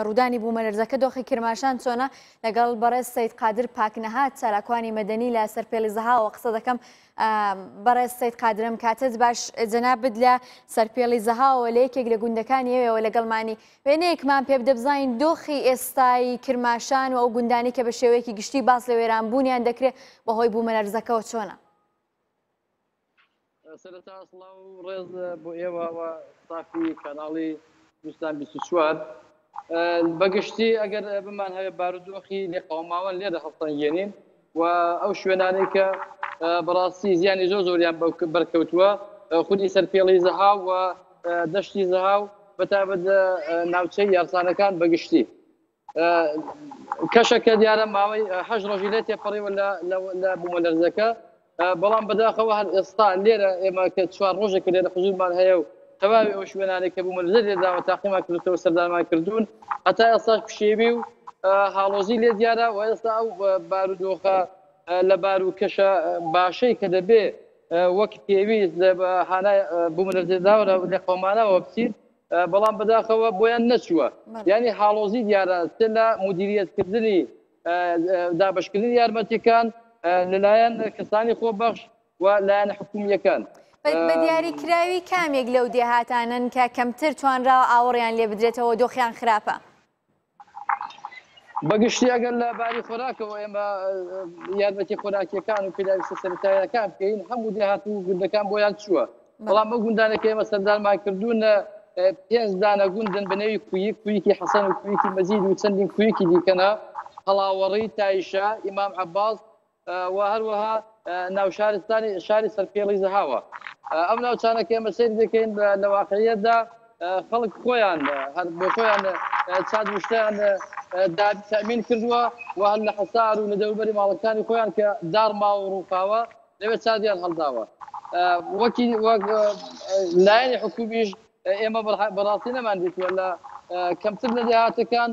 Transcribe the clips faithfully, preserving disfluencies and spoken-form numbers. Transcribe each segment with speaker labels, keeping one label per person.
Speaker 1: ڕوودانی بوومەلەرزەکە دۆخی کرماشان چۆنە؟ لەگەڵ بەڕێز سەید قادر پاکنەهات چالاکوانی مەدەنی لە سەرپێڵی زەهاوە قسە دەکەم. بەڕێز سەید قادرم، کاتت باش. جەنابت لە سەرپێڵی زەهاوە لە یەکێک لە گوندەکانی ئێوەوە لەگەڵمانی، وێنەیەکمان پێ بدە بزانین دۆخی ئێستای کرماشان و ئەو گوندانی کە بە شێوەیەکی گشتی باس لە وێرانبوونیان دەکرێت بەهۆی بوومەلەرزەکەوە چۆنە؟
Speaker 2: سەرەتا سڵاو و ڕێز بۆ ئێوە و ستافی کەناڵی کوردستان بیست و چوار. بەگشتی ئەگەر بمان هەوێ بارودۆخی لێقەوماوان لێرە هەڵسەنگێنین و ئەو شوێنانەی کە بەڕاستی زیانی زۆر زۆریان بەرکەوتووە، خودی سەرپێڵی زەهاو و دەشتی زەهاو بەتایبەت ناوچەی یارسانەکان بەگشتی. کەشەکە دیارە ماوەی هەشت ڕۆژی لێ تێپەڕیوە لە بوومەلەرزەکە، بەڵام بەداخەوە هەر ئێستا لێرە ئێمە کە چوار ڕۆژێک لێرە حزوورمان هەیە و تەواوی ئەو شوێنانەی کە بوومەلەرزە لێداوە تاقیمان کردوتەوە سەردانمان کردوون، هەتا ئێستاش پشێوی و هاڵۆزی لێ دیارە و ئێستا ئەو بارودۆخە لە بارو کەشە باشەی کە دەبێ وەک پێویست لە هانای بوومەلەرزەداوە لە قەومانەوە بچیت، بەڵام بەداخەوە بۆیان نەچووە. یعنی هاڵۆزی دیارە چ لە مدیریەتکردنی دابەشکردنی یارمەتیەکان لەلایەن کەسانی خۆبەخش و لایەنە حکومیەکان.
Speaker 1: بە دیاریکراوی کامێک لەو دێهاتانن کە کەمتر توانراوە ئاوەڕیان لێ بدرێتەوە دۆخیان خراپە؟
Speaker 2: بەگشتی ئەگەر لە باری خۆراکەوە ئێمە یارمەتی خۆراکیەکان و پێداویستە سەرەتاییەکان بکەین، هەموو دێهات و گوندەکان بۆیان چووە. بەڵام ئەو گوندانە کە ئێمە سەردانمان کردوون پێنج دانە گوندن بە نێوی کویک، کویکی حەسەن و کویکی مەزید و چەندین کویکی دیکەنە، هەڵاوەڕی، تایشە، ئیمام عەباس و هەروەها ناوشارستانی شاری سەرپێڵی زەهاوە. ئەم ناوچانە کە ئێمە سەیر دەکەین لە واقعیەتدا خەڵک خۆیان هەر بۆ خۆیان چاد وشتیان تەئمین کردووە و هەر لە حەسار و لە دەوروبەری ماڵەکانی خۆیان کە دارما و ڕووخاوە لەوێ چادیان هەڵداوە. وەکی وەک لایەنی حکومیش ئێمە بەڕاستی نەمان دیتووە لە کەمتر لە دێهاتەکان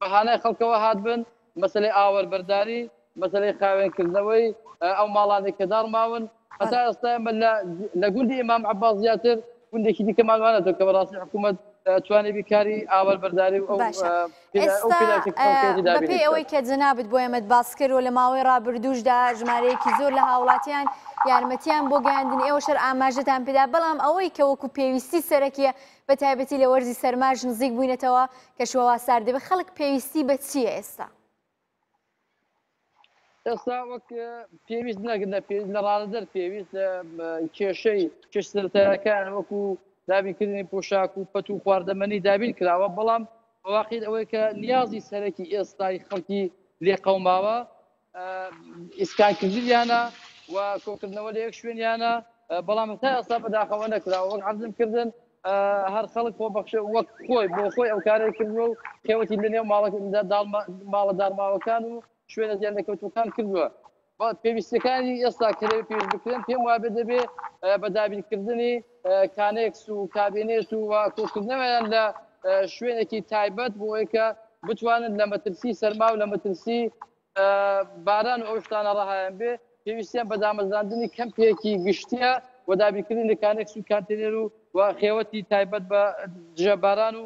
Speaker 2: بەهانای خەڵکەوە هاتبن، مەسلەی ئاوەربەرداری، مەسلەی خاوێنکردنەوەی ئەو ماڵانەی کە داڕماون. هەتا ئێستا ئێمە لە گوندی ئیمام عەباس زیاتر گوندێکی دیکەمان وانەتەوە کە بەڕاستی حکوومەت توانێ بیکاری ئاوەربەرداری و ئەو
Speaker 1: بەپێی ئەوەی کە جەنابت بۆ ئێمەت باس کرد و لە ماوەی ڕابردووشدا ژمارەیەکی زۆر لە هاوڵاتیان یارمەتیان بۆ گەیاندن ئێوە شەر ئاماژەتان پێدا، بەڵام ئەوەی کە وەکو پێویستی سەرەکیە بە تایبەتی لە وەرزی سەرماش نزیک بووینەتەوە کە شوەوا سارد دەبێت، خەڵک پێویستی بە چییە ئێستا؟
Speaker 2: ئێستا وەک پێویست نەگرنە پێویست لە ڕادەدەر پێویست کێشەی کێش سەرەتایەکان وەکو دابینکردنی پۆشاک و پەت و خواردەمەنی دابین کراوە، بەڵام واقعیت ئەوەی کە نیازی سەرەکی ئێستای خەڵکی لێقەوماوە ئیسکانکردنیانە و کۆکردنەوە لە یەک شوێنیانە، بەڵام تا ئێستا بەداخەوە نەکراوە. وەک عەرزم کردن هەر خەڵک خۆبەخشە وەک خۆی بۆ خۆی ئەو کارەی کردووە و خێوەتی لەنێو ماڵە دارماوەکان و شوێنە زیان لەکەوتوەکان کردووە. پێویستەکانی ئێستا کە لەوێ پێویست بکرێن پێم وابێ دەبێ بە دابینکردنی کانێکس و کابینێت و کۆکردنەوەیان لە شوێنێکی تایبەت بۆ ئەوەی کە بتوانن لە مەترسی سەرما و لە مەترسی باران و ئەو شتانە ڕەهایان بێ. پێویستیان بە دامەزراندنی کەمپێکی گشتیە و دابینکردنی کانێکس و کانتێنەر و خێوەتی تایبەت بە دژە باران و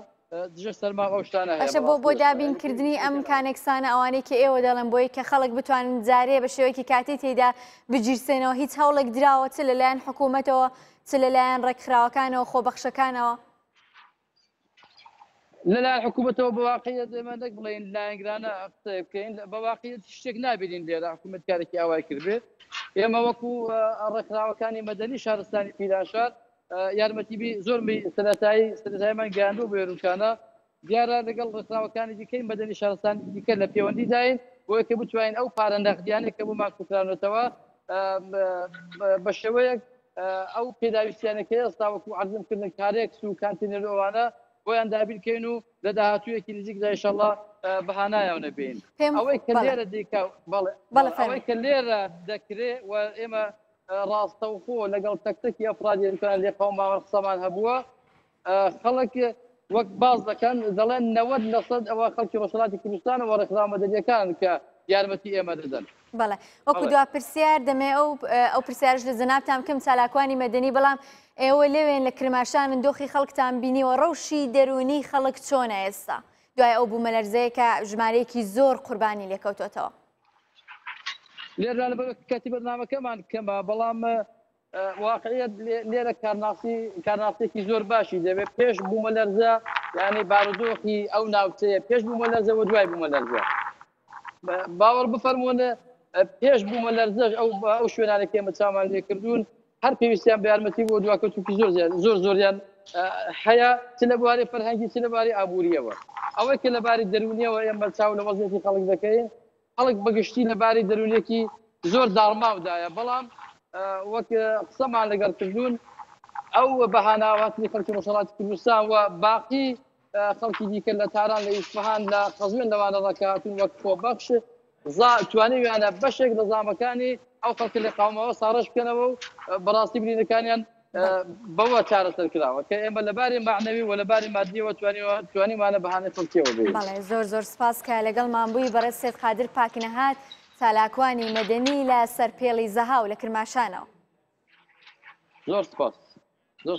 Speaker 2: دژە سەرما ئەو شتانە هەیە.
Speaker 1: باشە، بۆ بۆ دابینکردنی ئەم کانێکسانە ئەوانەی کە ئێوە دەڵێن بۆی کە خەڵک بتوانن جارێ بە شێوەیەکی کاتی تێدا بگیرسێنەوە، هیچ هەوڵێک دراوە چ لەلایەن حکوومەتەوە چ لەلایەن ڕێکخراوەکانەوە خۆبەخشەکانەوە؟
Speaker 2: لەلایەن حکوومەتەوە بە واقعیەت ئێمە نەک بڵێین لایەنگرانە قسە بکەین، بە واقعیەت شتێک نابینین لێرە حکوومەت کارێکی ئاوای کردبێت. ئێمە وەکو ڕێکخراوەکانی مەدەنی شارستانی پیرانشار یارمەتی زۆر سەرەتایی سەرەتاییمان گەیاندووە بۆ ێروکانە. دیارە لەگەڵ ڕێکخراوەکانی دیکەی مەدەنی شارستانی دیکە لە پەیوەندیداین بۆیە کە بتوانین ئەو پارە نەقدیانەی کە بۆمان کوکرانەتەوە بە شێوەیەک ئەو پێداویستیانە کە ئێستا وەکو عەرزم کردن کارێکس و کانتینەر ئەوانە بۆیان دابین بکەین و لە داهاتوویەکی نزیکدا ئینشەڵڵا بەهانایەوە بین. ئەوەی کە لێرە دیکە بەڵێ ئەوەی کە لێرە دەکرێ و ئێمە ڕاستەوخۆ لەگەڵ تەک تەکی ئەفرادی ئێرکان لێقەوماوە قسەمان هەبووە، خەڵک وەک باز دەکەن دەڵێن نەوەد لەسەد ئەوە خەڵکی ڕۆژهەڵاتی کوردستان و ڕێکخراوە مەدەنیەکان کە یارمەتی ئێمە دەدەن.
Speaker 1: بەڵێ وەکو دوا پرسیار دەمێ ئەو ئەو پرسیارش لە جەنابتان بکەم چالاکوانی مەدەنی، بەڵام ئێوە لەوێن لە کرماشانن دۆخی خەڵکتان بینیوە، ڕەوشی دەروونی خەڵک چۆنە ئێستا دوای ئەو بوومەلەرزەیە کە ژمارەیەکی زۆر قوربانی لێکەوتۆتەوە؟
Speaker 2: لێرە لەبەر کاتی بەرنامەکەمان کەمە، بەڵام واقعیت لێرە کارناسی کارناسێکی زۆر باشی دەبێت. پێش بوومەلەرزە یعنی بارودۆخی ئەو ناوچەیە پێش بوومەلەرزە و دوای بوومەلەرزە باوەڕ بفەرمونە پێش بوومەلەرزەش ئەو ئەو شوێنانە کە ئێمە چاومان لێکردوون هەر پێویستیان بە یارمەتی بۆ دواکەوتوکی زۆر زۆر زۆریان هەیە، چ لە بواری فەرهەنگی چ لە باری ئابووریەوە. ئەوەی کە لە باری دەروونیەوە ئێمە چاو لە وەزعیەتی خەڵک دەکەین، خەڵک بەگشتی لە باری دەروونیەکی زۆر داڕماودایە، بەڵام وەک قسەمان لەگەڵ کردوون ئەو بەهاناواتنی خەڵکی ڕۆژهەڵاتی کوردستان و باقی خەڵکی دیکە لە تاران، لە ئیسفەهان، لە قەزوێن لەوانە ڕەکاتون وەک خۆبەخش توانیویانە بەشێک لە زامەکانی ئەو خەڵکە لە قاومەوە ساڕێژ بکەنەوە و بەڕاستی برینەکانیان بەوە چارەسەر کراوە کە ئێمە لەباری معنەوی و لەباری مادیەوە توانیمانە بەهانەی خەڵکیەوە بێت.
Speaker 1: بەڵێ زۆر زۆر سپاس کە لەگەڵمان بووی بەڕێز سەید قادر پاکنەهات، چالاکوانی مەدەنی لە سەرپێڵی زەهاو لە کرماشانەوە.
Speaker 2: زۆر سپاس. زۆر